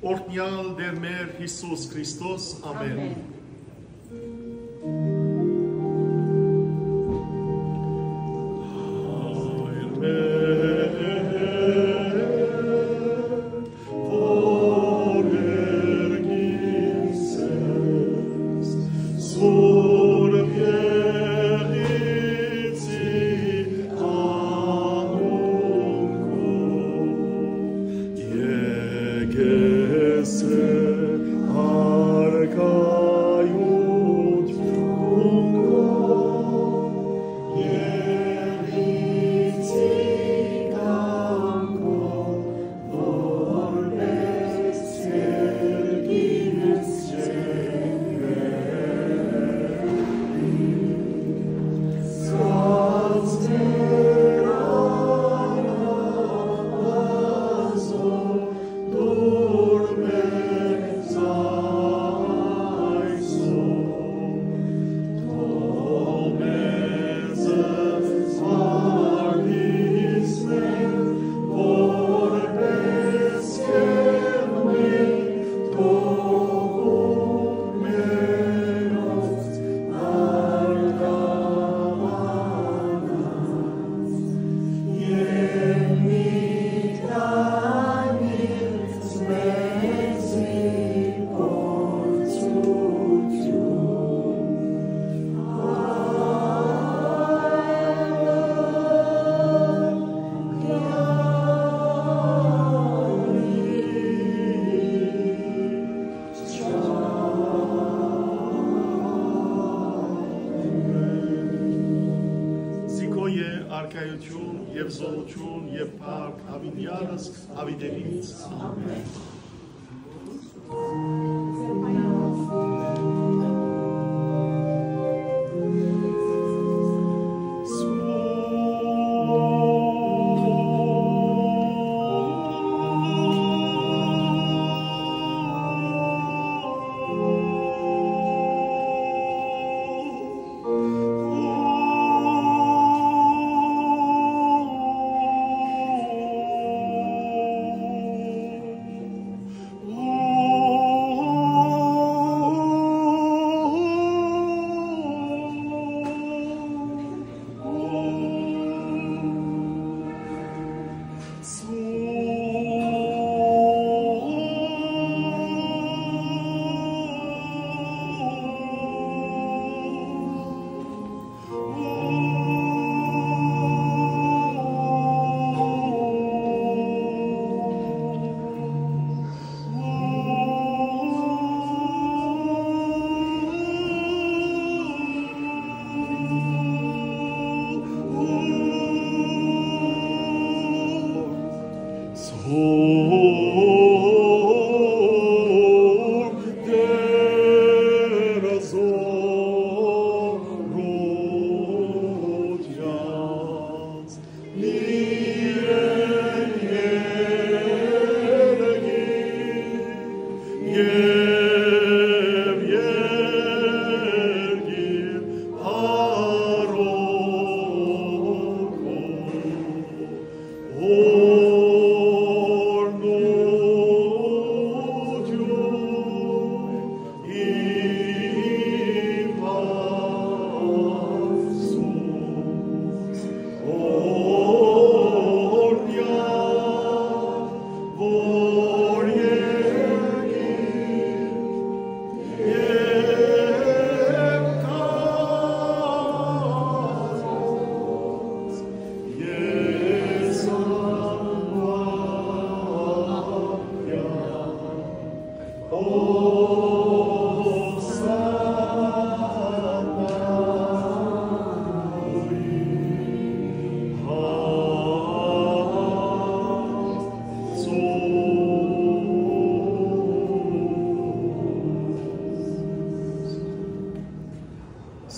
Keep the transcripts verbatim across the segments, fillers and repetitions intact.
Օրհնեալ Տէր մեր Յիսուս Քրիստոս, ամեն։ Ամեն։ Հայր մեր, որ երկինքս ես, Սուրբ Եղիցի անունքով, եկես է արքայութիւնքով, Զիքոյ է արքայութիւն եւ զօրութիւն եւ փառք, յաւիտեանս յաւիտենիցս։ Ամեն։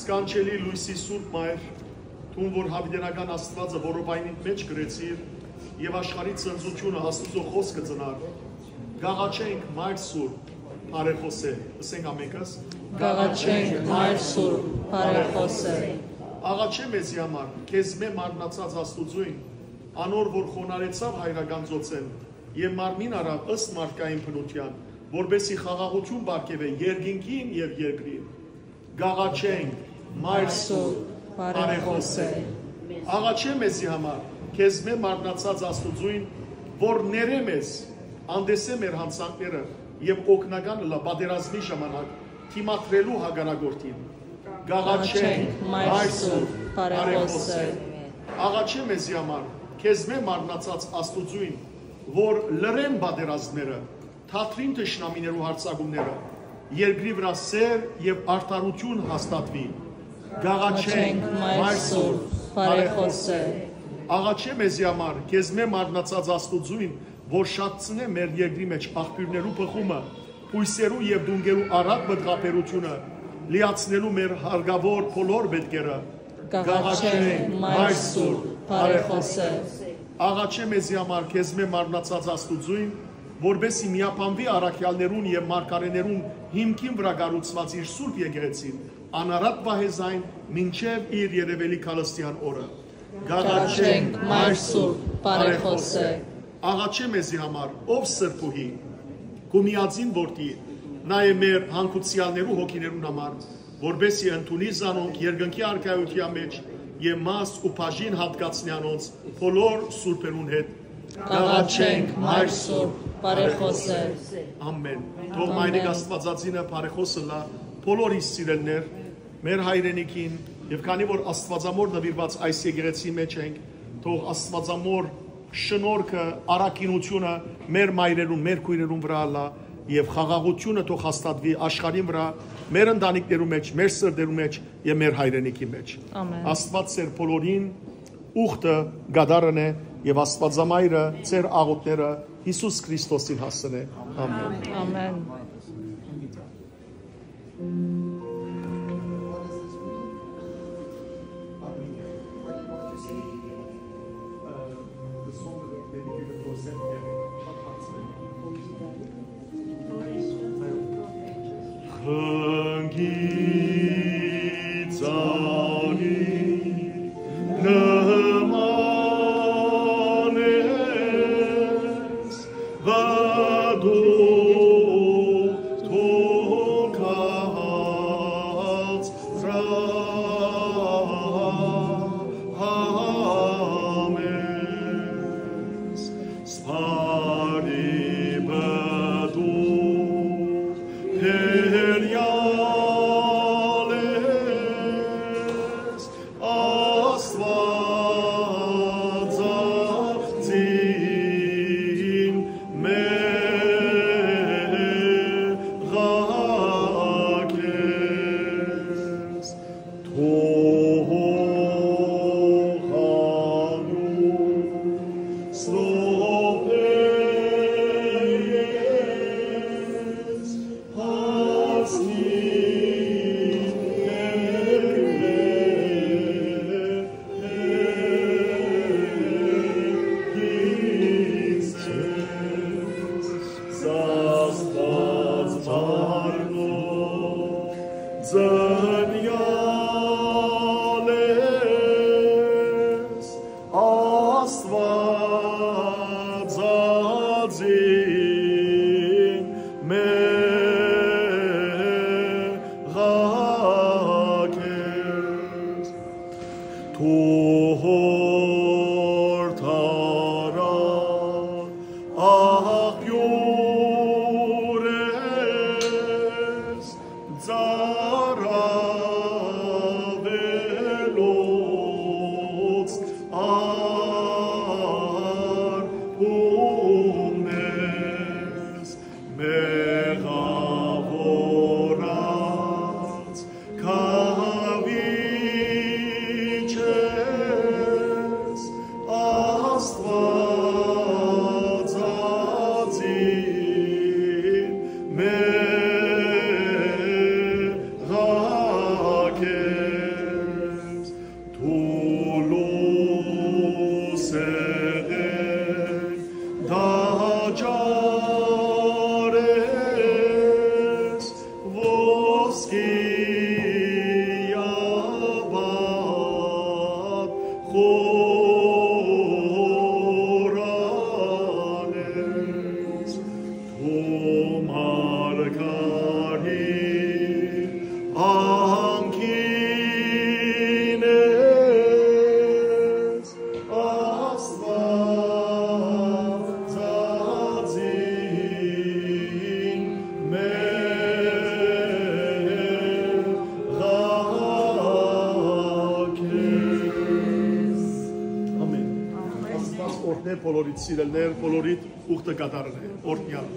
Սքանչելի լոյսի Սուրբ Մայր, դուն որ յաւիտենական Աստուածը որովայնիդ մէջ կրեցիր եւ աշխարհի ծնծութիւնը Աստուծոյ խօսքը ծնար, կ'աղաչենք, Մայր Սուրբ, բարեխօսէ, ըսենք ամենքս. Կ'աղաչենք, Մայր Սուրբ, բարեխօսէ։ Աղաչէ մեզի համար, քեզմէ մարմնացած Աստուծոյն, անոր որ խոնարհեցաւ հայրական ծոցէն եւ մարմին առաւ ըստ մարդկային բնութեան, որպէս զի խաղաղութիւն պարգեւէ երկինքին եւ երկրին։ Կ'աղաչենք, Մայր Սուրբ, բարեխօս է։ Աղաչէ մեզի համար, քեզմէ մարմնացած Աստուծոյն, որ ներէ մեզ, անտեսէ մեր յանցանքները եւ օգնական ըլլայ պատերազմի ժամանակ դիմադրելու հակառակորդին։ Կ'աղաչենք, Մայր Սուրբ, բարեխօս է։ Աղաչէ մեզի համար, քեզմէ մարմնացած Աստուծոյն, որ լռեն պատերազմները, թատրին թշնամիներու յարձակումները, երկրի վրայ սէր եւ արդարութիւն հաստատուի։ Կ'աղաչենք, Մայր Սուրբ, բարեխօս է։ Աղաչէ մեզի համար, քեզմէ մարմնացած Աստուծոյն, որ շատցնէ մեր երկրի մէջ աղբիւրներու բխումը, բոյսերու եւ տունկերու առատ մտղաբերութիւնը, լիացնելու մեր հարկաւոր բոլոր պէտքերը։ Կ'աղաչենք, Մայր Սուրբ, բարեխօս է։ Աղաչէ մեզի համար, քեզմէ մարմնացած Աստուծոյն, որպէս զի միաբանուի առաքեալներուն եւ մարգարէներուն հիմքին վրայ կառուցուած իր սուրբ եկեղեցին, անարատ պահէ զայն մինչեւ իր երեւելի քալստեան օրը։ Կ'աղաչենք, Մայր Սուրբ, բարեխօս է։ Աղաչէ մեզի համար, ով սրբուհի, քու միածին որդի, նայէ մեր հանգուցեալներու հոգիներուն համար, որպէս զի ընդունի զանոնք երկնքի արքայութեան մէջ եւ մաս ու բաժին հատկացնի անոնց բոլոր սուրբերուն հետ։ Կ'աղաչենք, Մայր Սուրբ, բարեխօս է։ Ամեն։ Թող Մայրիկ Աստուածածինը բարեխօս ըլլայ բոլոր իր սիրելիներ, մեր հայրենիքին, եւ քանի որ Աստուածամոր նուիրուած այս եկեղեցի մէջ ենք, թող Աստուածամոր շնորհքը, առաքինութիւնը մեր մայրերուն, մեր քոյրերուն վրայ ըլլայ, եւ խաղաղութիւնը թող հաստատուի աշխարհին վրայ, մեր ընտանիքներու մէջ, մեր սրտերու մէջ եւ մեր հայրենիքի մէջ։ Ամեն։ Աստուած ձեր բոլորին ուխտը կատարեն է, եւ Աստուածամայրը ձեր աղօթքները Յիսուս Քրիստոսին հասցնէ։ Ամեն։ Ամեն։ Խնկի ծանի նման ես, վատու թոքած ռահամես, սպարի բդու հերյալ ես, Աստուածածին մեղակ ես, թող անոր սրբէ ես Ո մարգարի անկին ես, Աստուածածին մեր ղակես։ Ամեն։ Աստուած օրհնէ բոլորիդ սիրելներ, բոլորիդ ուխտը կատարնէ, օրհնյալ։